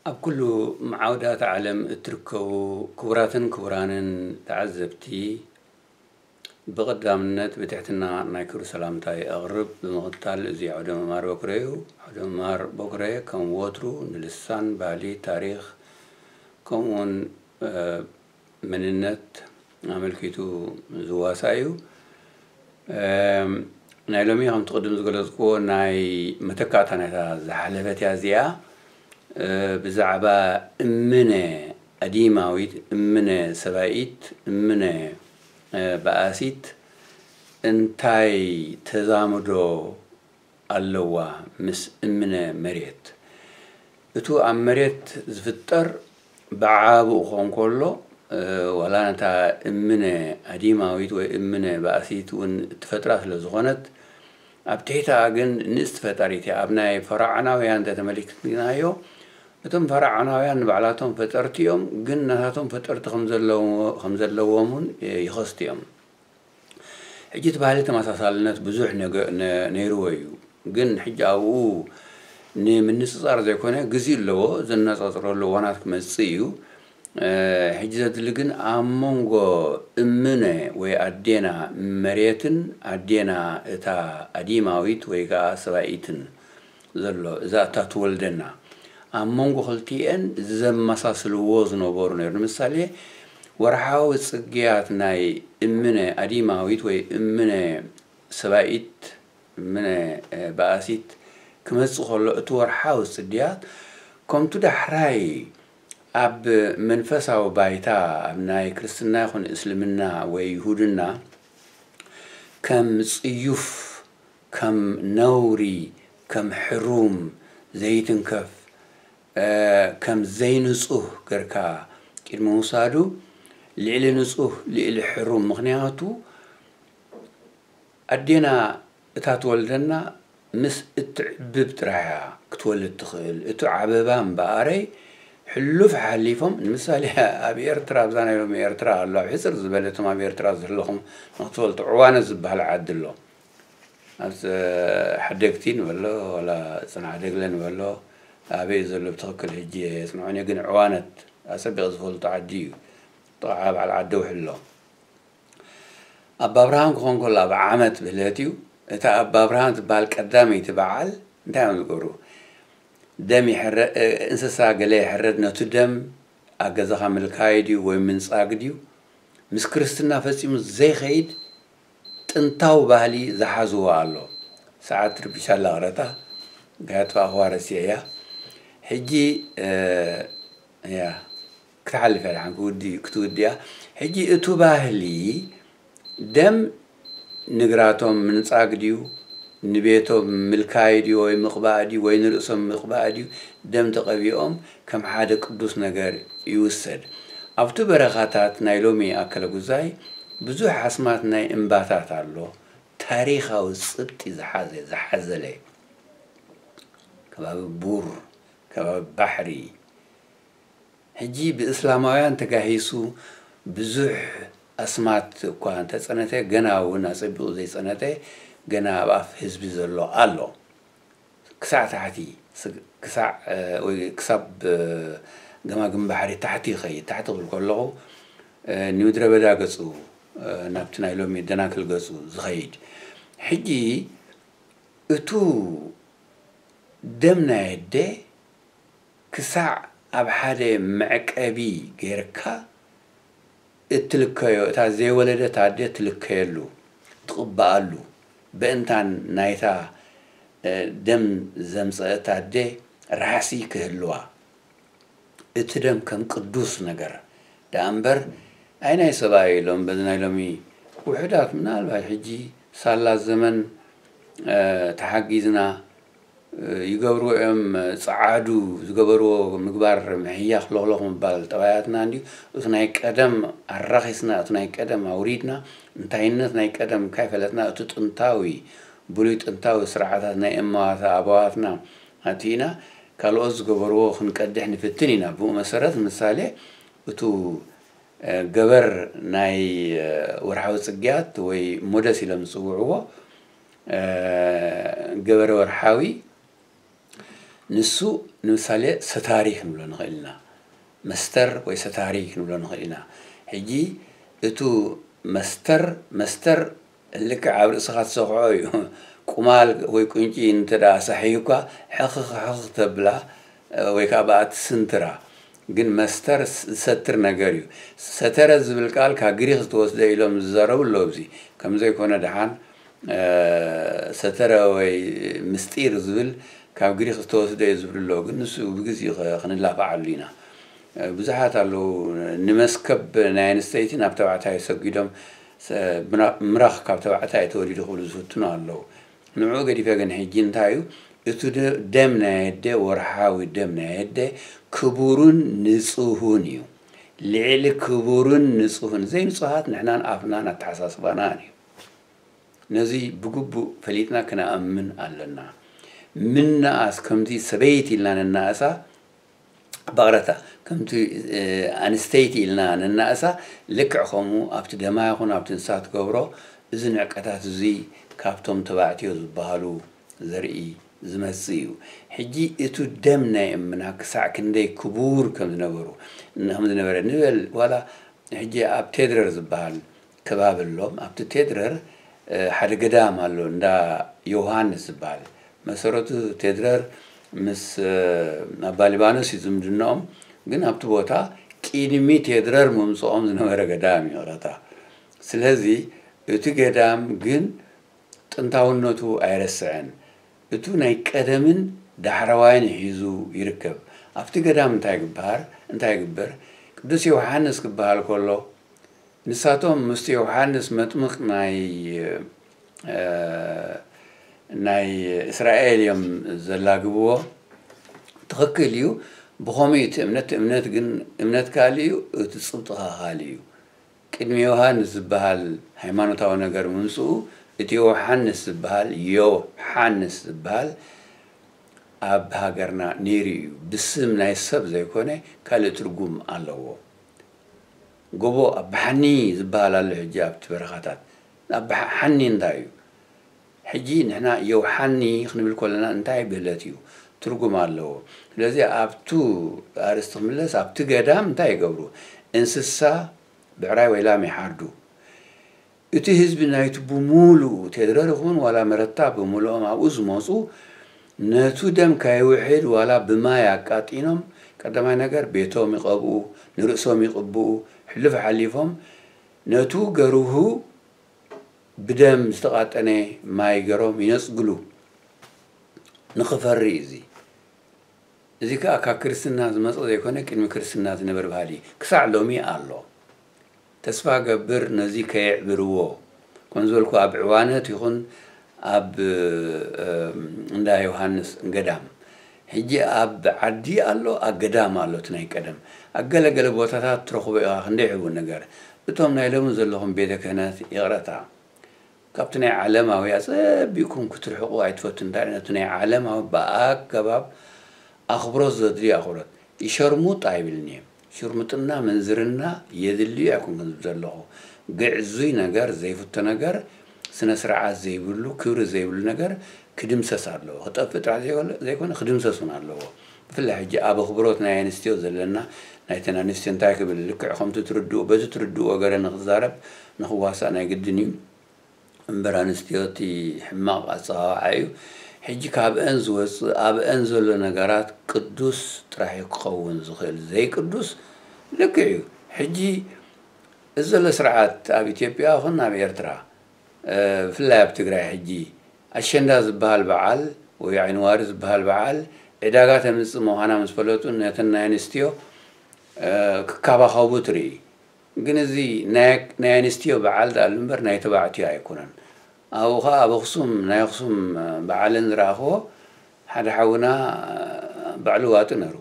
ኣብ ኩሉ መዓውዳት ዓለም እትርከቡ ክቡራትን ክቡራንን ተዓዘብቲ፣ ብቐዳምነት ብትሕትና ናይ ክብሪ ሰላምታይ ኣቕርብ። ብምቕጻል፣ እዚ ዓውደ ምምሃር በኩረ እዩ። ዓውደ ምምሃር በኩረ ከም ወትሩ ንልሳን፣ ባህሊ፣ ታሪኽ፣ ከምኡውን፣ እ፣ መንነት ኣመልኪቱ ዝዋሳእ እዩ። እም፣ ናይ ሎሚ ከምቲ ቅድም ዝገለጽክዎ ናይ መተካእታ ናይታ ዝሓለፈት እያ እዚኣ። እ፣ ብዛዕባ እምነ ኣዲማዊት፣ እምነ ሰባኢት፣ እምነ፣ እ፣ በኣሲት እንታይ ተዛምዶ ኣለዋ ምስ እምነ መሬት? እቱ ኣብ መሬት ዝፍጠር ብዓብኡ ክኾን ከሎ፣ እ፣ ዋላ ነታ እምነ ኣዲማዊት ወይ እምነ ባእሲት እውን እትፈጥራ ስለ ዝኾነት፣ ኣብ ትሕተኣ ግን ንእስቲ ፈጣሪት እያ። ኣብ ናይ ፈርዖናውያን እንተተመልኪትናዮ፣ እቶም ፈርዖናውያን ንባዕላቶም ፈጠርቲ እዮም፣ ግን ናታቶም ፈጠርቲ ከም ዘለዎ-፣ ከም ዘለዎም እውን ይኸስቱ እዮም። ሕጂ እቲ ባህሊ ተመሳሳልነት ብዙሕ ነገ-፣ ነ-፣ ነይርዎ እዩ። ግን ሕጂ ኣብኡ ንምንጽጻር ዘይኮነ፣ ግዜ ኣለዎ፣ ዘነጻጽረሉ እዋናት ክመጽእ እዩ። እ፣ ሕጂ ዘድሊ ግን ኣብ መንጎ እምነ ወይ ኣዴና መሬትን ኣዴና እታ ኣዲማዊት ወይ ከኣ ሰባኢትን ዘሎ፣ እዛ እታ ትወልደና፣ ኣብ መንጎ ክልቲኤን ዘመሳስልዎ ዝነበሩ ነይሩ። ንምሳሌ፣ ወርሓዊ ጽግያት ናይ እምነ ኣዲማዊት ወይ እምነ ሰባኢት፣ እምነ፣ እ፣ በኣሲት ክመጽእ ከሎ፣ እቲ ወርሓዊ ጽግያት ከምቱ ዳሕራይ ኣብ መንፈሳዊ ባይታ፣ ኣብ ናይ ክርስትና ይኹን እስልምና ወይ ይሁድና፣ ከም ጽዩፍ፣ ከም ነውሪ፣ ከም ሕሩም ዘይትንከፍ፣ እ፣ ከም ዘይንጹህ ገርካ ቅድሚ ምውሳዱ፣ ልዕሊ ንጹህ፣ ልዕሊ ሕሩም፣ ምኽንያቱ ኣዴና እታ ትወልደና ምስ እትዕብብ ጥራሕ እያ ክትወልድ ትኽእል። እቲ ዓበባ እምበኣረይ ሕሉፍ ሓሊፎም፣ ንምሳሌ ኣብ ኤርትራ፣ ኣብዛ ናይ ሎሚ ኤርትራ ኣሎ፣ ኣብ ሕጽር ዝበለ እቶም ኣብ ኤርትራ ዘለኹም ንክትፈልጡ፣ ዕዋነት ዝበሃል ዓዲ ኣሎ። ኣብ ጸ-፣ ሓደግቲ ንበሎ፣ ወላ ጽንዓደግለ ንበሎ፣ ኣበይ ዘሎ ብትኽክል ሕጂ የጽንዖን እየ፣ ግን ዕዋነት ኣጸቢቕ ዝፈልጦ ዓዲ እዩ። ጥቓ በዓል ዓዲ ውሕሎ። ኣባ ኣብርሃም ክኾን ከሎ ኣብ ዓመት ብህለት እዩ። እታ ኣባ ኣብርሃም ትበሃል ቀዳመይቲ በዓል እንታይ እዮም ዝገብሩ? ደም ይሕረ-፣ እ፣ እንስሳ ገለ ይሕረድ፣ ነቱ ደም ኣብ ገዛኻ ምልካይ ድዩ ወይ ምንጻግ ድዩ? ምስ ክርስትና ፈጺሙ ዘይኸይድ ጥንታዊ ባህሊ ዝሓዝዎ ኣሎ። ሰዓት ርቢሻ ኣላ ቅረታ፣ እንታይ ኣጥፋእኽዋ ረሲዐያ። ሕጂ፣ እ፣ እያ፣ ክትሓልፍ እያ፣ ደሓን ክውዲ-፣ ክትውድያ። ሕጂ እቱ ባህሊ ደም ንግራቶም ምንጻግ ድዩ? ንቤቶም ምልካይ ድዩ ወይ ምቕባእ ድዩ ወይ ንርእሶም ምቕባእ ድዩ? ደም ተቐቢኦም ከም ሓደ ቅዱስ ነገር ይውሰድ። ኣብቲ በረኻታት ናይ ሎሚ ኣከለ ጉዛይ ብዙሕ ኣስማት ናይ እምባታት ኣሎ። ታሪኻዊ ጽብጢ ዝሓዘ፣ ዝሓዘለ ከባቢ ቡር፣ ከባቢ ባሕሪ። ሕጂ ብእስላማውያን ተጋሂሱ ብዙሕ ኣስማት እኳ እንተጸነተ፣ ገና እውን ኣጸቢቑ ዘይጸነተ፣ ገና ኣብ ኣፍ ህዝቢ ዘሎ ኣሎ። ክሳዕ ታሕቲ፣ ስ-፣ ክሳዕ፣ እ፣ ወይ ክሳብ፣ እ፣ ገማግም ባሕሪ ታሕቲ ይኸይድ። ታሕቲ ክብል ከለኹ፣ እ፣ ንምድረ በዳ ገጹ፣ እ፣ ናብቲ ናይ ሎሚ ደናክል ገጹ ዝኸይድ። ሕጂ እቱ ደም ናይ ኣደ ክሳዕ ኣብ ሓደ መዕቀቢ ጌርካ እትልከዮ፣ እታ ዘይወለደት ኣደ ትልከየሉ፣ ትቕበኣሉ፣ በእንታን ናይታ፣ እ፣ ደም ዘምጸአት ኣደ ራሕሲ ክህልዋ፣ እቲ ደም ከም ቅዱስ ነገር ደኣ እምበር፣ ኣይ ናይ ሰብኣይ ኢሎም በዚ ናይ ሎሚ ውሑዳት፣ ምናልባት ሕጂ ሳላ ዘመን፣ እ፣ ተሓጊዝና፣ እ፣ ይገብርዎ እዮም። ጸዓዱ ዝገበርዎ ምግባር፣ ምሕያኽ፣ ሎኽሎኽ ምባል ጠባያትና እንድዩ። እቲ ናይ ቀደም ኣራኺስና፣ እቲ ናይ ቀደም ኣውሪድና፣ እንታይነት ናይ ቀደም ካይፈለጥና፣ እቲ ጥንታዊ፣ ብሉይ ጥንታዊ ስርዓታት ናይ እማዋት ኣበዋትና ኣቲና፣ ካልኦት ዝገበርዎ ክንቀድሕ ንፍትን ኢና። ብኡ መሰረት፣ ምሳሌ፣ እቱ፣ እ፣ ገበር ናይ፣ እ፣ ወርሓዊ ጽግያት ወይ ሞደስ ኢሎም ዝጽውዕዎ፣ እ፣ ገበረ ወርሓዊ ንሱ ንምሳሌ ሰታሪ ክንብሎ ንኽእል ኢና። መስተር ወይ ሰታሪ ክንብሎ ንኽእል ኢና። ሕጂ እቱ መስተር፣ መስተር ልክዕ ኣብ ርእስኻ ትሰኽዖ እዩ። ቁማል ወይ ቁንጪ እንተ ደኣ ሳሕዩ እኳ ሕኽኽ ሕኽኽ ተብላ ወይ ከዓ ብኣ ትስንትራ። ግን መስተር ዝሰትር ነገር እዩ። ሰተረ ዝብል ቃል ካብ ግሪኽ ዝተወስደ ኢሎም ዝዛረቡ ኣለዉ። እዚ ከም ዘይኮነ ደሓን ሰተረ ወይ ምስጢር ዝብል ካብ ግሪኽ ዝተወስደ እዩ ዝብሉ ኣለዉ። ግን ንሱ ብግዜኡ ክንላፋዓሉ ኢና። ብዙሓት ኣለዉ ንመስከብ ናይ ኣንስተይቲ ናብ ተባዕታይ ሰጊዶም ምራኽ ካብ ተባዕታይ ተወሊዱ ክብሉ ዝፍትኑ ኣለዉ። ንዕኡ ገዲፈ ግን ሕጂ እንታይ እዩ እቲ ደም ናይ ኣደ ወርሓዊ ደም ናይ ኣደ ክቡርን ንጹህን እዩ። ልዕሊ ክቡርን ንጹህን ዘይንጹሃት ንሕናን ኣፍናን ኣተሓሳስባናን እዩ። ነዚ ብግቡእ ፈሊጥና ክነኣምን ኣለና። ምንኣስ ከምቲ ሰበይቲ ኢልና ንናእሳ ባቕረታ ከምቲ ኣንስተይቲ ኢልና ንናእሳ ልክዕ ከምኡ ኣብቲ ደማ ይኹን ኣብቲ ንሳ ትገብሮ እዚ ንዕቀታት እዚ ካብቶም ተባዕትዮ ዝበሃሉ ዘርኢ ዝመጽእ እዩ። ሕጂ እቱ ደም ናይ እምና ክሳዕ ክንደይ ክቡር ከም ዝነበሩ ከም ዝነበረ ንበል ዋላ ሕጂ ኣብ ቴድረር ዝበሃል ከባቢ ኣሎ። ኣብቲ ቴድረር ሓደ ገዳም ኣሎ እንዳ ዮሃንስ ዝበሃል። መሰረቱ ቴድረር ምስ ኣባ ሊባኖስ እዩ ዝምድናኦም። ግን ኣብቲ ቦታ ቅድሚ ቴድረር ምምፅኦም ዝነበረ ገዳም እዩ ይቕረታ። ስለዚ እቲ ገዳም ግን ጥንታውነቱ ኣይረስዐን። እቱ ናይ ቀደምን ዳሕረዋይን ሒዙ ይርከብ። ኣብቲ ገዳም እንታይ ግብሃር እንታይ ግበር? ቅዱስ ዮሃንስ ክበሃል ከሎ ንሳቶም ምስቲ ዮሃንስ መጥምቕ ናይ ናይ እስራኤል እዮም ዘላግብዎ። ትኽክል እዩ። ብኸምኡ እቲ እምነት እምነት ግን እምነት ካልእ እዩ፣ እቲ ጽብጥኻ ካልእ እዩ። ቅድሚ ዮሃንስ ዝበሃል ሃይማኖታዊ ነገር ምምፅኡ እቲ ዮሃንስ ዝበሃል ዮሃንስ ዝበሃል ኣብ ሃገርና ነይሩ እዩ። ብስም ናይ ሰብ ዘይኮነ ካልእ ትርጉም ኣለዎ። ጎቦ ኣባሓኒ ዝበሃል ኣሎ ሕጂ ኣብቲ በረኻታት። ኣባሓኒ እንታይ እዩ? ሕጂ ንሕና ዮውሓኒ ክንብል ከለና እንታይ ብህለት እዩ ትርጉም ኣለዎ። ስለዚ ኣብቱ ኣርእስቲ ክምለስ ኣብቲ ገዳም እንታይ ይገብሩ? እንስሳ ብዕራይ ወይ ላም ይሓርዱ። እቲ ህዝቢ ናይቲ ብሙሉኡ ቴድረር ይኹን ዋላ መረታ ብምሉኦም ኣብኡ ዝመፁ ነቱ ደም ካይውሕድ ዋላ ብማይ ኣቃጢኖም ቀዳማይ ነገር ቤቶም ይቐብኡ፣ ንርእሶም ይቕብኡ፣ ሕሉፍ ሓሊፎም ነቱ ገርሁ ብደም ዝተቓጠነ ማይ ገሮም ይነጽግሉ። ንኽፈሪ እዚ እዚ ከኣ ካብ ክርስትና ዝመጸ ዘይኮነ ቅድሚ ክርስትና ዝነበር ባህሊ ክሳዕ ሎሚ ኣሎ። ተስፋ ገብር ነዚ ከየዕብርዎ ከም ዝበልኩ ኣብ ዕዋነት ይኹን ኣብ እንዳ ዮሃንስ ገዳም ሕጂ ኣብ ዓዲ ኣሎ፣ ኣብ ገዳም ኣሎ። እቲ ናይ ቀደም ኣብ ገለገለ ቦታታት ትረኽቦ ኢኻ ክንደይ ሕቡን ነገር። እቶም ናይ ሎሚ ዘለኹም ቤተ ክህነት ይቕረታ ካብቲ ናይ ዓለማዊ ኣጸቢቕኩም ክትርሕቑ ኣይትፈቱ እንዳ ነቲ ናይ ዓለማዊ ብኣገባብ ኣኽብሮት ዘድልዮ ኣኽብሮት ይሸርሙጥ ኣይብልን እየ። ሽርሙጥና ምንዝርና የድልዩ ኣይኮንኩን ዝብል ዘለኹ። ግዕዙይ ነገር ዘይፍቶ ነገር ስነ ስርዓት ዘይብሉ ክብሪ ዘይብሉ ነገር ክድምሰስ ኣለዎ። ክጠፍእ ጥራሕ ዘይኮነ ክድምሰስ እውን ኣለዎ። ብፍላይ ሕጂ ኣብ ኣኽብሮት ናይ ኣንስትዮ ዘለና ናይተን ኣንስትዮ እንታይ ክብል ልክዕ ከምቲ ትርድኡ በቲ ትርድእዎ ገረ ንክዛረብ ንክዋሳእ ናይ ግድን እዩ። እምበር ኣንስትዮ እቲ ሕማቕ ኣጸዋውዓ እዩ። ሕጂ ካብአን ዝወጽእ ኣብአን ዘሎ ነገራት ቅዱስ ጥራሕ እዩ ክኸውን ዝኽእል። ዘይቅዱስ ልክዕ እዩ። ሕጂ እዚ ዘሎ ስርዓት ኣብ ኢትዮጵያ ይኹን ኣብ ኤርትራ ብፍላይ ኣብ ትግራይ ሕጂ ኣሸንዳ ዝበሃል በዓል ወይ ዓይንዋሪ ዝበሃል በዓል ዕዳጋ ተምፅእ ምዃና ምስ ፈለጡ ነተን ናይ ኣንስትዮ ክከባኸቡ ትርኢ። ግን እዚ ናይ ኣንስትዮ በዓል ደኣሉ እምበር ናይ ተባዕትዮ ኣይኮነን። ኣብኡ ኸዓ ኣብ ኣኽሱም ናይ ኣኽሱም በዓለን ዝረኣኽዎ ሓደ ሓውና ባዕሉ ዋጢ ነሩ።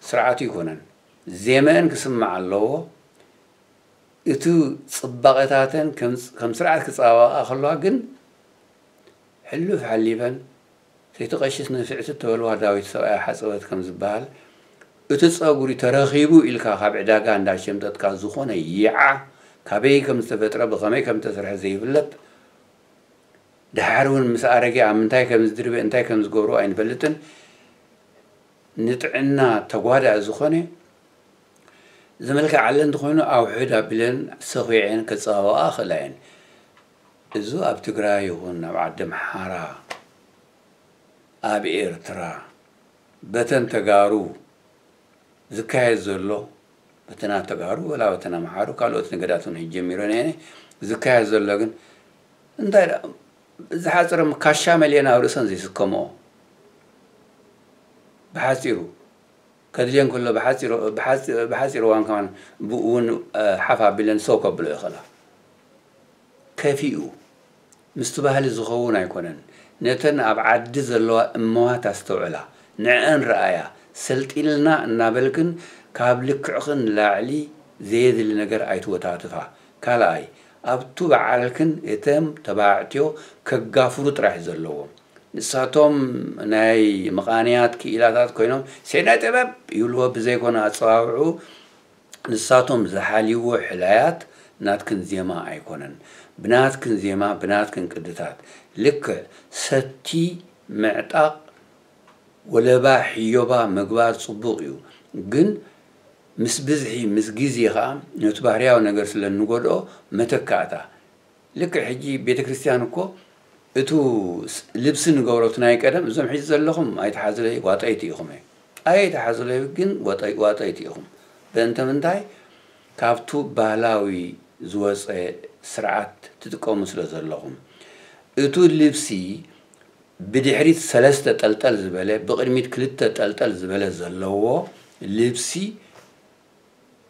ስርዓቱ ይኮነን። ዜመአን ክስማዕ ኣለዎ። እቲ ጽባቐታተን ከም ስርዓት ክጸባበቓ ከለዋ ግን ሕሉፍ ሓሊፈን ሰይቲ ቀሺስ ንፍዕቲ ተበልዋ ዳዊት ሰብኣያ ሓጸበት ከም ዝበሃል እቲ ጸጉሪ ተረኺቡ ኢልካ ካብ ዕዳጋ እንዳሸምጠጥካ ዝኾነ ይዓ ካበይ ከም ዝተፈጥረ ብኸመይ ከም ዝተሰርሐ ዘይፍለጥ ደሓር እውን ምስ ኣረገ ኣብ ምንታይ ከም ዝድርበ እንታይ ከም ዝገብሮ ኣይንፈልጥን። ንጥዕና ተጓዳኢ ዝኾነ ዝመልክዓለ እንተኾይኑ ኣውሕድ ኣቢለን ሰኺዐን ከጸባብቓ ይኽእላ እየን። እዚ ኣብ ትግራይ ይኹን ኣብ ዓዲ ኣምሓራ፣ ኣብ ኤርትራ፣ በተን ተጋሩ ዝካየድ ዘሎ፣ በተን ተጋሩ ወላ በተን ኣምሓሩ፣ ካልኦት ነገዳት እውን ሕጂ ጀሚረን እየን፣ ዝካየድ ዘሎ ግን እንታይ ደኣ፣ ዝሓፅረን ካሻ መሊአን ኣብ ርእሰን ዘይስከምኦ፣ ብሓፂሩ ከድልየን ከሎ ብሓፂሩ፣ ብሓፂ-፣ ብሓፂሩ እዋን ከማን ብኡ እውን፣ እ፣ ሓፍ ኣቢለን ሰው ከብሎ ይኽእላ። ከፊኡ ምስቲ ባህሊ ዝኸውን ኣይኮነን። ነተን ኣብ ዓዲ ዘለዋ እመዋት ኣስተውዕላ፣ ንዐን ረኣያ፣ ሰልጢንልና እናበልክን ካብ ልክዕኽን ንላዕሊ ዘየድሊ ነገር ኣይትወታትፋ። ካልኣይ፣ ኣብቱ በዓልክን እቶም ተባዕትዮ ከጋፍሩ ጥራሕ ዘለዎም። ንሳቶም ናይ መቓንያት ክኢላታት ኮይኖም ሴናይ ጥበብ ይብልዎ ብዘይኮነ ኣጸዋውዑ ንሳቶም ዝሓልይዎ ሕላያት ናትክን ዜማ ኣይኮነን። ብናትክን ዜማ፣ ብናትክን ቅድታት፣ ልክዕ ሰቲ ምዕጣቕ፣ ወለባ፣ ሕዮባ ምግባር ጽቡቕ እዩ። ግን ምስ ብዝሒ፣ ምስ ግዜ ኸኣ ነቲ ባህርያዊ ነገር ስለ እንጎድኦ መተካእታ። ልክዕ ሕጂ ቤተ ክርስቲያን እኮ እቱ ስ-፣ ልብሲ ንገብሮ እቲ ናይ ቀደም፣ እዞም ሕጂ ዘለኹም ኣይትሓዙለይ፣ ዋጠይቲ ኢኹም እየ። ኣይትሓዙለይ ግን ዋጠይ-፣ ዋጠይቲ ኢኹም። በእንተ ምንታይ? ካብቱ ባህላዊ ዝወፀ ስርዓት ትጥቀሙ ስለ ዘለኹም። እቱ ልብሲ ብድሕሪት ሰለስተ ጠልጠል ዝበለ፣ ብቕድሚት ክልተ ጠልጠል ዝበለ ዘለዎ ልብሲ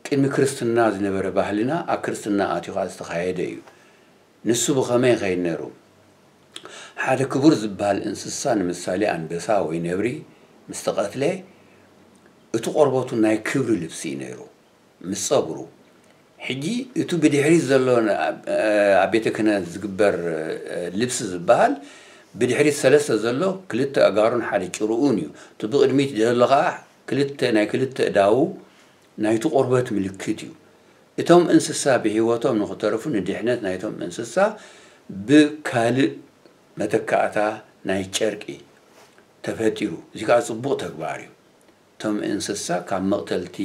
ቅድሚ ክርስትና ዝነበረ ባህልና ኣብ ክርስትና ኣትዩ ኸዓ ዝተኻየደ እዩ። ንሱ ብኸመይ ይኸይድ ነይሩ? ሓደ ክቡር ዝበሃል እንስሳ፣ ንምሳሌ ኣንበሳ ወይ ነብሪ ምስ ተቐትለ፣ እቲ ቆርበቱ ናይ ክብሪ ልብሲ እዩ ነይሩ፣ ምስ ጸጉሩ። ሕጂ እቱ ብድሕሪት ዘሎ ን-፣ ኣብ፣ ኣብ ቤተ ክህነት ዝግበር፣ እ፣ ልብሲ ዝበሃል፣ ብድሕሪት ሰለስተ ዘሎ ክልተ ኣእጋሩን ሓደ ጭርኡን እዩ። እቲ ብቕድሚት ዘሎ ኸዓ ክልተ፣ ናይ ክልተ እዳዉ ናይቲ ቆርበት ምልክት እዩ። እቶም እንስሳ ብህይወቶም ንኽተርፉ ንድሕነት ናይቶም እንስሳ ብካልእ መተካእታ ናይ ጨርቂ ተፈጢሩ። እዚ ከኣ ጽቡቕ ተግባር እዩ። እቶም እንስሳ ካብ መቕተልቲ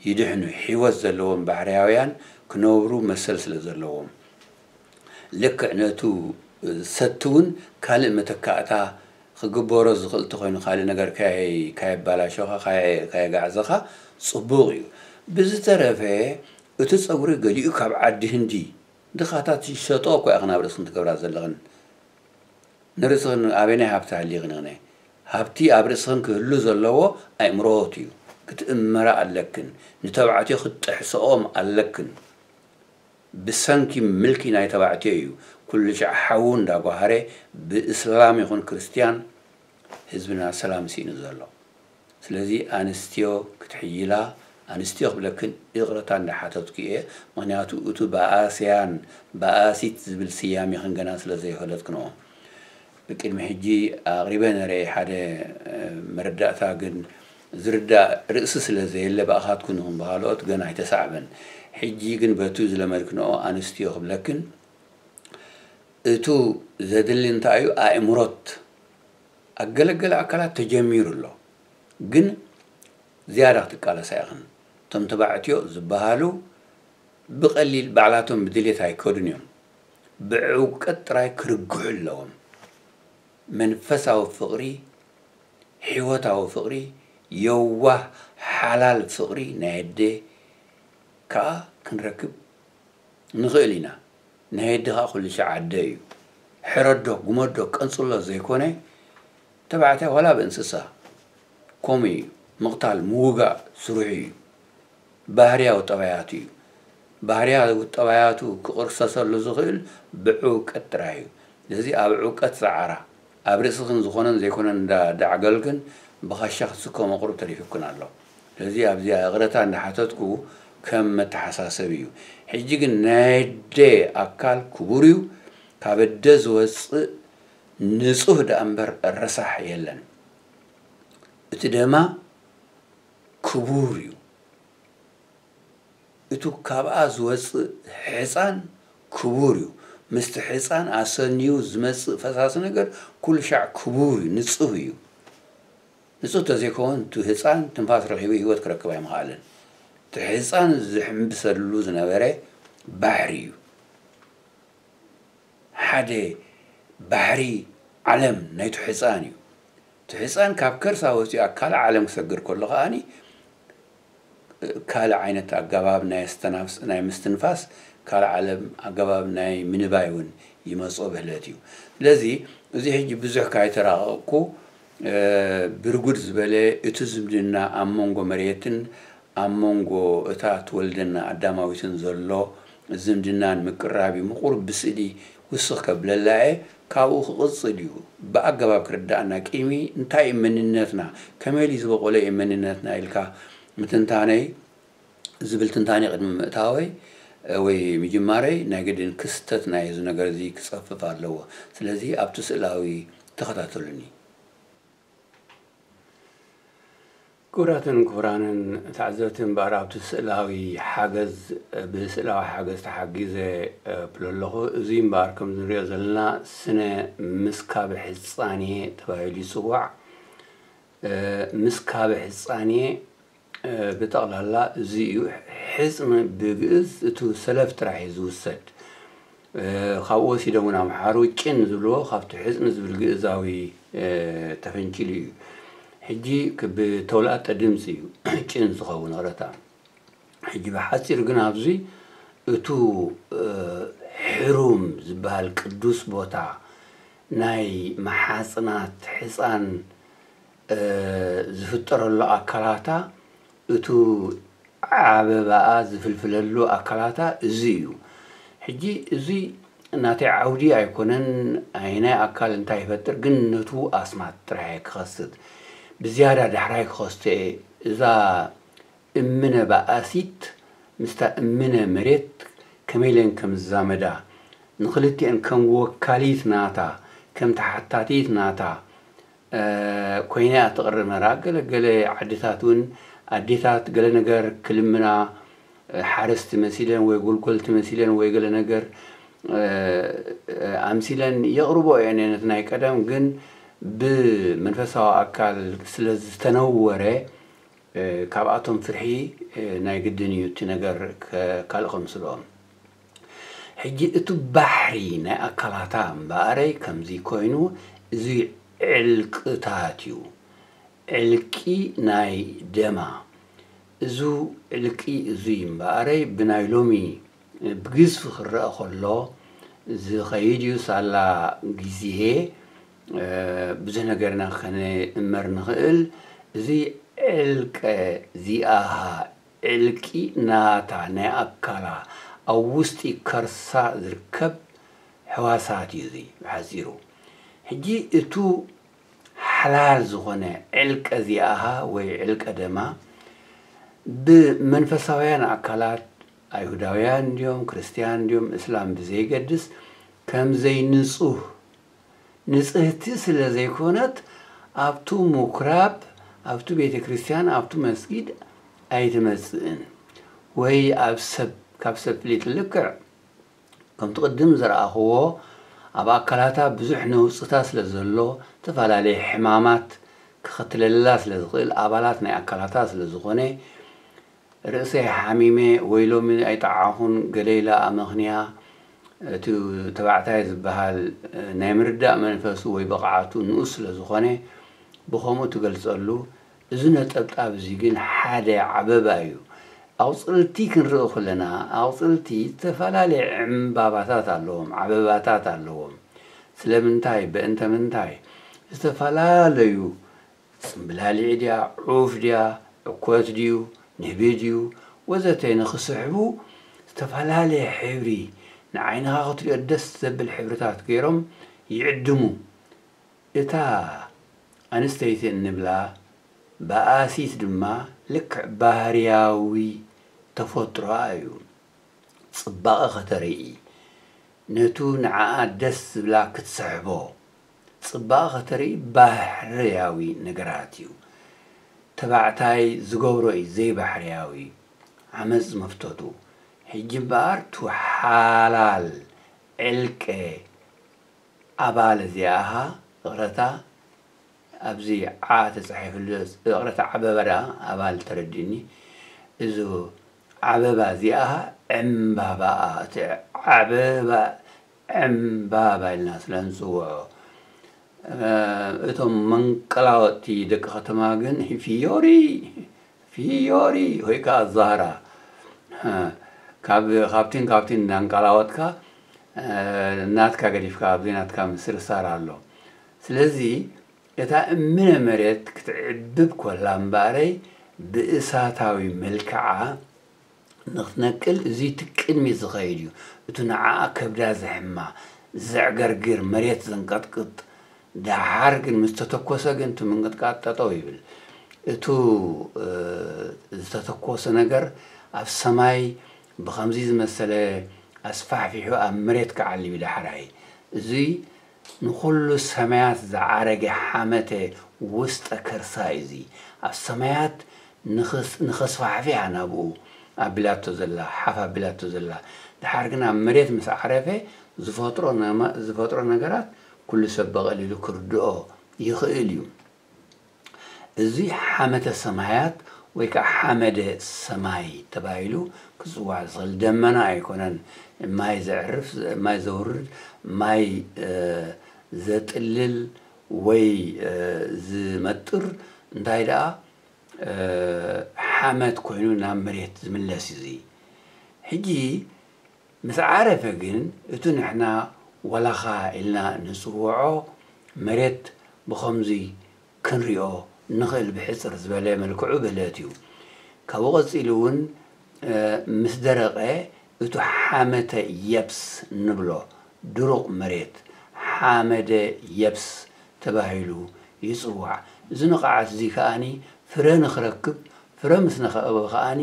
ይድሕኑ፣ ህይወት ዘለዎም ባሕርያውያን ክነብሩ መሰል ስለ ዘለዎም። ልክዕ ነቱ ሰቲ እውን ካልእ መተካእታ ክግበሮ ዝኽእል እንተኾይኑ፣ ካልእ ነገር ካየ-፣ ካየባላሸኻ፣ ካየ-፣ ካየጋዕዘኻ ጽቡቕ እዩ። ብዝተረፈ፣ እቲ ጸጉሪ ገሊኡ ካብ ዓዲ ህንዲ ድኻታት ይሸጦ እኮ ኢኽን ኣብ ርእስኽን ትገብራ ዘለኽን። ንርእስኽን ኣበየናይ ሃብቲ ሃሊኽን ኢኽን? ሃብቲ ኣብ ርእስኽን ክህሉ ዘለዎ ኣእምሮት እዩ። ክትእመራ ኣለክን። ንተባዕትዮ ክትጥሕስኦም ኣለክን። ብሰንኪ ምልኪ ናይ ተባዕትዮ እዩ ኩሉ ሻዕ ሓዉ እንዳጓሃረ ብእስላም ይኹን ክርስትያን ህዝብና ሰላም ስኢኑ ዘሎ። ስለዚ ኣንስትዮ ክትሕይላ፣ ኣንስትዮ ክብለክን ይቕረታ እንዳሓተትኩ እየ። ምኽንያቱ እቱ በኣስያን በኣሲት ዝብል ስያሜኽን ገና ስለ ዘይፈለጥክንኦ። ብቅድሚ ሕጂ ኣቕሪበ ነረ ሓደ፣ እ፣ መረዳእታ፣ ግን ዝርዳእ ርእሲ ስለ ዘየለ ብኣኻትኩን ይኹን ብኻልኦት ገና ኣይተሳዕበን። ሕጂ ግን በቱ ዝለመድክንኦ ኣንስትዮ ክብለክን፣ እቱ ዘድሊ እንታይ እዩ? ኣእምሮት ኣብ ገለገለ ኣካላት ተጀሚሩ ኣሎ። ግን ዝያዳ ክትቃለሳ ኢኽን። እቶም ተባዕትዮ ዝበሃሉ ብቐሊል ባዕላቶም ብድሌት ኣይከዱን እዮም። ብዕውቀት ጥራይ ክርግሑ ኣለዎም። መንፈሳዊ ፍቕሪ፣ ህይወታዊ ፍቕሪ፣ የዋህ ሓላል ፍቕሪ ናይ ኣደ ከኣ ክንረክብ ንኽእል ኢና። ናይ ኣደ ከኣ ኩሉ ሻዕ ኣደ እዩ። ሕረዶ፣ ጉመዶ፣ ቀንጽሎ ዘይኮነ፣ ተባዕታይ ዋላ ብእንስሳ ከምኡ እዩ። ምቕታል፣ ምውጋእ ስርሑ እዩ። ባህርያዊ ጠባያቱ እዩ። ባህርያዊ ጠባያቱ ክቕርሰሰሉ ዝኽእል ብዕውቀት ጥራይ እዩ። ስለዚ ኣብ ዕውቀት ጸዓራ፣ ኣብ ርእስኽን ዝኾነን ዘይኮነን እንዳ-፣ እንዳዕገልክን ብኻሻ ክትስከሞ ቁሩብ ተሪፉክን ኣሎ። ስለዚ ኣብዚኣ ይቕረታ እንዳሓተትኩ ከም መተሓሳሰቢ እዩ። ሕጂ ግን ናይ ኣደ ኣካል ክቡር እዩ። ካብ ኣደ ዝወጽእ ንጹህ ደኣ እምበር ረሳሕ የለን። እቲ ደማ ክቡር እዩ። እቱ ካብኣ ዝወጽእ ሕጻን ክቡር እዩ። ምስቲ ሕጻን ኣሰንዩ ዝመጽእ ፈሳሲ ነገር ኩሉ ሻዕ ክቡር እዩ፣ ንጹህ እዩ። ንጹህ ተዘይከውን እቲ ህጻን ትንፋስ ረኺቡ ህይወት ክረክብ ኣይምኽኣለን። እቲ ህጻን ዝሕምብሰሉ ዝነበረ ባሕሪ እዩ። ሓደ ባሕሪ ዓለም ናይቱ ህጻን እዩ። እቲ ህጻን ካብ ከርሳ ወጺኡ ኣብ ካልእ ዓለም ክሰግር ከሎ ከኣኒ ካልእ ዓይነት ኣገባብ ናይ ኣስተናፍስ-፣ ናይ ምስትንፋስ ካልእ ዓለም ኣገባብ ናይ ምንባይ እውን ይመጾ ብህለት እዩ። ስለዚ እዚ ሕጂ ብዙሕ ካይተራቐቕኩ፣ እ፣ ብርጉድ ዝበለ እቲ ዝምድና ኣብ መንጎ መሬትን ኣብ መንጎ እታ ትወልደና ኣዳማዊትን ዘሎ ዝምድናን ምቅርራብ እዩ። ምቁር ብስእሊ ውስኽ ከብለላ እየ። ካብኡ ክቕጽል እዩ። ብኣገባብ ክርዳእና ቂሚ እንታይ እዩ መንነትና፣ ከመይ ኢሉ ዝበቆለ እዩ መንነትና ኢልካ ምትንታነይ ዝብል ትንታኔ ቅድሚ ምእታወይ፣ እ፣ ወይ ምጅማረይ ናይ ግድን ክስተት ናይ እዚ ነገር እዚ ክጸፍፍ ኣለዎ። ስለዚ ኣብቲ ስእላዊ ተኸታተሉኒ። ክቡራትን ክቡራንን ተዓዘብቲ፣ እምበኣር ኣብቲ ስእላዊ ሓገዝ፣ ብስእላዊ ሓገዝ ተሓጊዘ፣ እ፣ እብል ኣለኹ። እዚ እምበኣር ከም ንሪኦ ዘለና ስነ ምስካብ ሕጻኔ ተባሂሉ ይጽዋዕ። እ፣ ምስካብ ሕጻኔ፣ እ፣ ብጠቕላላ እዚ እዩ። ሕጽን ብግእዝ እቱ ሰለፍ ጥራሕ እዩ ዝውሰድ። እ፣ ካብኡ ወሲዶም እውን ኣምሓሩ ጭን ዝብልዎ ካብቲ ሕጽን ዝብል ግእዛዊ፣ እ፣ ተፈንጭሉ እዩ። ሕጂ ክ-፣ ብተውላጠ ድምፂ እዩ ጭን ዝኸውን ቕረታ። ሕጂ ብሓፂር ግን ኣብዚ እቱ፣ እ፣ ሕሩም ዝበሃል ቅዱስ ቦታ ናይ መሓፅናት ሕፃን፣ እ፣ ዝፍጠረሉ ኣካላታ እቱ ዓበባኣ ዝፍልፍለሉ ኣካላታ እዚ እዩ። ሕጂ እዚ ናተይ ዓውዲ ኣይኮነን፣ ኣይናይ ኣካል እንታይ ይፈጥር፣ ግን ነቱ ኣስማት ጥራሕ እየ ክኸስት። ብዝያዳ ዳሕራይ ክኸስቶ እየ። እዛ እምነ በኣሲት ምስታ እምነ መሬት ከመይ ኢለን ከም ዝዛመዳ፣ ንኽልቲአን ከም ወካሊት ናታ፣ ከም ተሓታቲት ናታ፣ እ፣ ኮይና እያ ትቕርብ ነራ። ገለ ገለ ዓድታት እውን ኣዴታት ገለ ነገር ክልምና፣ እ፣ ሓረስቲ መሲለን ወይ ጎልጎልቲ መሲለን ወይ ገለ ነገር፣ እ፣ እ፣ ኣምሲለን የቕርቦ እየን ነቲ ናይ ቀደም። ግን ብመንፈሳዊ ኣካል ስለ ዝተነወረ፣ እ፣ ካብኣቶም ፍርሒ፣ እ፣ ናይ ግድን እዩ እቲ ነገር ከ-፣ ካልእ ከምስልኦም። ሕጂ እቲ ባሕሪ ናይ ኣካላታ እምበኣረይ ከምዚ ኮይኑ፣ እዚ ዕልቅታት እዩ። ዕልቂ ናይ ደማ። እዚ ዕልቂ እዚ እምበኣረይ ብናይ ሎሚ ብግዝፊ ክረአ ከሎ ዝኸይድ እዩ። ሳላ ግዜ፣ እ፣ ብዙሕ ነገርና ከነእመር ንኽእል። እዚ ዕልቀ ዚኣሃ ዕልቂ ናታ ናይ ኣካላ ኣብ ውሽጢ ከርሳ ዝርከብ ሕዋሳት እዩ እዚ ብሓጺሩ። ሕጂ እቱ ሓላል ዝኾነ ዕልቀ ዚኣሃ ወይ ዕልቀ ደማ ብመንፈሳውያን ኣካላት ኣይሁዳውያን እንድዮም፣ ክርስትያን እንድዮም፣ እስላም ብዘይገድስ ከም ዘይንጹህ፣ ንጽህቲ ስለ ዘይኮነት ኣብቱ ምኩራብ፣ ኣብቱ ቤተ ክርስቲያን፣ ኣብቱ መስጊድ ኣይትመጽእን። ወይ ኣብ ሰብ፣ ካብ ሰብ ፍሊጥ ልክዕ ከምቲ ቅድም ዝረኣኽዎ ኣብ ኣካላታ ብዙሕ ነውጽታ ስለ ዘሎ ዝተፈላለየ ሕማማት ክኸትለላ ስለ ዝኽእል ኣባላት ናይ ኣካላታ ስለ ዝኾነ ርእሰይ ሓሚመ ወይ ሎሚ ኣይጠዓኹን ገለ ኢላ ኣመኽንያ እቲ ተባዕታይ ዝበሃል ናይ ምርዳእ መንፈሱ ወይ ብቕዓቱ ንኡስ ስለ ዝኾነ ብኸምኡ ትገልጸሉ። እዚ ነጠብጣብ እዚ ግን ሓደ ዓበባ እዩ። ኣቑጽልቲ ክንርኢ ከለና ኣቑጽልቲ ዝተፈላለየ ዕምባባታት ኣለዎም፣ ዓበባታት ኣለዎም። ስለምንታይ? በእንተ ምንታይ? ዝተፈላለዩ ጽምብላሊዕ ድያ፣ ዑፍ ድያ፣ ዕኮት ድዩ፣ ንህቢ ድዩ፣ ወዘተ ንኽስሕቡ ዝተፈላለየ ሕብሪ ንዓይንኻ ክትሪኦ ደስ ዘብል ሕብርታት ገይሮም ይዕድሙ። እታ ኣንስተይቲ እንብላ በኣሲት ድማ ልክዕ ባህርያዊ ተፈጥሮኣ እዩ። ጽባቐ ከተርኢ፣ ነቱ ንዓኣ ደስ ዝብላ ክትስሕቦ፣ ጽባቐ ከተርኢ ባህርያዊ ነገራት እዩ። ተባዕታይ ዝገብሮ እዩ ዘይባሕርያዊ፣ ዓመጽ መፍተቱ። ሕጂ እምበኣር ቱ ሓላል ዕልቀ ኣባል እዚኣኻ፣ ይቕረታ፣ ኣብዚ ዓ ተጻሒፍሉ፣ ይቕረታ፣ ዓበባ ደኣ ኣባል ተረዲእኒ። እዚ ዓበባ እዚኣ ዕምባባኣ፣ እቲ ዓበባ ዕምባባ ኢልና ስለ ንጽውዖ፣ እ፣ እቶም መንቀላወጥቲ ደቂ ከተማ ግን ፊዮሪ፣ ፊዮሪ ወይ ከዓ ዛራ፣ እ፣ ካብ፣ ካብቲን ካብቲን እንዳንቀላወጥካ፣ እ፣ ናትካ ገዲፍካ ኣብዚ ናትካ ምስርሳር ኣሎ። ስለዚ እታ እምነ መሬት ክትዕብብ ኮላ እምበኣረይ ብእሳታዊ መልክዓ ንኽትነቅል እዚ እቲ ቅድሚት ዝኸይድ እዩ። እቲ ንዓኣ ከብዳ ዘሕማ፣ ዘዕገርግር፣ መሬት ዘንቀጥቅጥ፣ ደሓር ግን ምስ ተተኮሰ ግን እቲ ምንቅጥቃጥ ጠጠው ይብል። እቱ፣ እ፣ ዝተተኮሰ ነገር ኣብ ሰማይ ብኸምዚ ዝመሰለ ኣስፋሕፊሑ ኣብ መሬት ክዓልብ እዩ ዳሕራይ። እዚ ንኹሉ ሰማያት ዝዓረገ ሓመተ ውስጠ ከርሳ እዩ። እዚ ኣብ ሰማያት ንኽስ-፣ ንኸስፋሕፍሕ እያ ናብኡ ኣቢላቶ ዘላ፣ ሓፍ ኣቢላቶ ዘላ። ደሓር ግን ኣብ መሬት ምስ ዓረፈ ዝፈጥሮ ነማ-፣ ዝፈጥሮ ነገራት ኩሉ ሰብ ብቐሊሉ ክርድኦ ይኽእል እዩ። እዚ ሓመተ ሰማያት ወይ ከዓ ሓመደ ሰማይ ተባሂሉ ክጽዋዕ ዝኽእል ደመና ኣይኮነን። ማይ ዘዕርፍ፣ ማይ ዘውርድ፣ ማይ፣ እ፣ ዘጥልል ወይ፣ እ፣ ዝመጥር፣ እንታይ ደኣ፣ እ፣ ሓመድ ኮይኑ ናብ መሬት ዝምለስ እዩ። እዚ ሕጂ ምስ ዓረፈ ግን እቲ ንሕና ወላኻ ኢልና ንጽውዖ መሬት ብኸምዚ ክንሪኦ ንኽእል ብሕጽር ዝበለ መልክዑ ብለት እዩ። ካብኡ ቀጺሉ እውን፣ እ፣ ምስ ደረቐ እቱ ሓመተ የብስ ንብሎ ድሩቕ መሬት ሓመደ የብስ ተባሂሉ ይጽዋዕ። እዚ ንቕዓት እዚ ከኣኒ ፍረ ንኽረክብ፣ ፍረ ምስ ነኸእበ ከኣኒ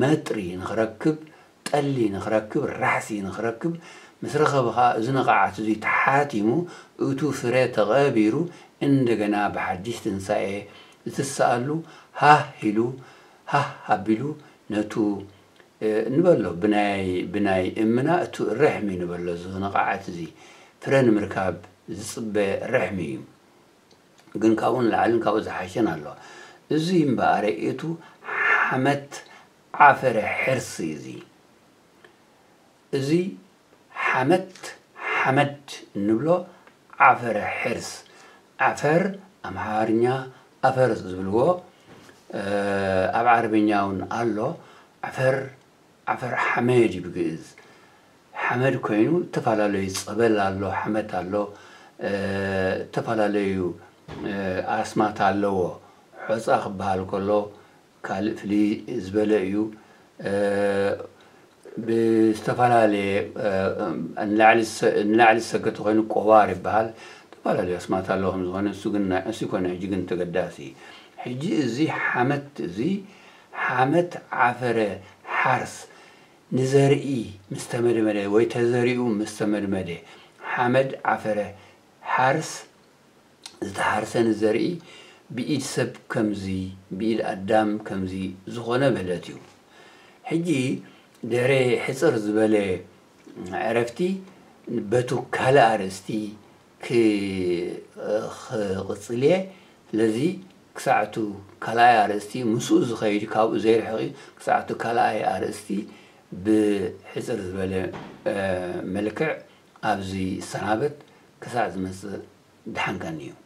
መጥሪ ንኽረክብ፣ ጠሊ ንኽረክብ፣ ራሕሲ ንኽረክብ፣ ምስ ረኸበ ኸኣ እዚ ንቕዓት እዚ ተሓቲሙ፣ እቱ ፍረ ተቐቢሩ፣ እንደገና ብሓድሽ ትንሳኤ ዝትስኣሉ ሃህ ኢሉ፣ ሃህ ኣቢሉ ነቱ፣ እ፣ ንበሎ ብናይ፣ ብናይ እምና እቱ ርሕሚ ንበሎ እዚ ንቕዓት እዚ ፍረ ንምርካብ ዝጽበ ርሕሚ እዩ። ግን ካብኡ ንላዕልን ካብኡ ዝሓሸን ኣሎ። እዚ እምበኣር እቱ ሓመት ዓፈረ ሕርሲ እዚ። እዚ ሓመት፣ ሓመድ እንብሎ ዓፈረ ሕርስ። ዓፈር ኣምሓርኛ ኣፈር ዝብልዎ፣ እ፣ ኣብ ዓረብኛ እውን ኣሎ። ዓፈር፣ ዓፈር ሓመድ እዩ ብግእዝ። ሓመድ ኮይኑ ዝተፈላለዩ ጸበል ኣሎ፣ ሓመድ ኣሎ፣ እ፣ ዝተፈላለዩ፣ እ፣ ኣስማት ኣለዎ። ሖጻ ክበሃል ከሎ ካልእ ፍልይ ዝበለ እዩ። እ፣ ብዝተፈላለየ፣ እ፣ ንላዕሊ ዝሰ-፣ ንላዕሊ ዝሰገተ ኮይኑ ቆባር ይበሃል። ዝተፈላለዩ ኣስማት ኣለዎ ከም ዝኾነ፣ እሱ ግን ናይ፣ እሱ ይኮነ ሕጂ ግን ተገዳሲ። ሕጂ እዚ ሓመት እዚ፣ ሓመት ዓፈረ ሓርስ ንዘርኢ ምስ ተመድመደ ወይ ተዘሪኡ ምስ ተመድመደ፣ ሓመድ ዓፈረ ሓርስ ዝተሓርሰ ንዘርኢ ብኢድ ሰብ ከምዚ፣ ብኢድ ኣዳም ከምዚ ዝኾነ በለት እዩ። ሕጂ ድሕሪ ሕጽር ዝበለ ዕረፍቲ በቱ ካልእ ኣርእስቲ ክ-፣ ክቕጽል እየ። ስለዚ ክሳዕቱ ካልኣይ ኣርእስቲ ምስኡ ዝኸይድ ካብኡ ዘይርሕቕ እዩ። ክሳዕቱ ካልኣይ ኣርእስቲ ብሕጽር ዝበለ፣ እ፣ መልክዕ ኣብዚ ይሰናበት። ክሳዕ ዝመጽእ ደሓን ቀንዩ።